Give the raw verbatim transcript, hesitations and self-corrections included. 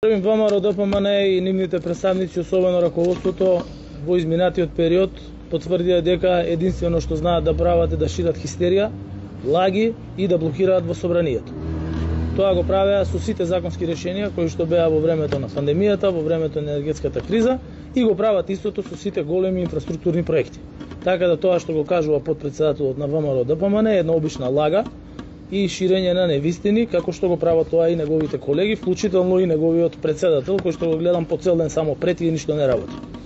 ВМРО Д П М Н и нивните представници, особено раководството, во изминатиот период потврдија дека единствено што знаат да прават е да шират хистерија, лаги и да блокираат во собранието. Тоа го правеа со сите законски решенија кои што беа во времето на пандемијата, во времето на енергетската криза и го прават истото со сите големи инфраструктурни проекти. Така да тоа што го кажува потпредседателот на ВМРО Д П М Н е една обична лага и ширење на невистини, како што го прават тоа и неговите колеги, вклучително и неговиот председател, кој што го гледам по цел ден само прети и ништо не работи.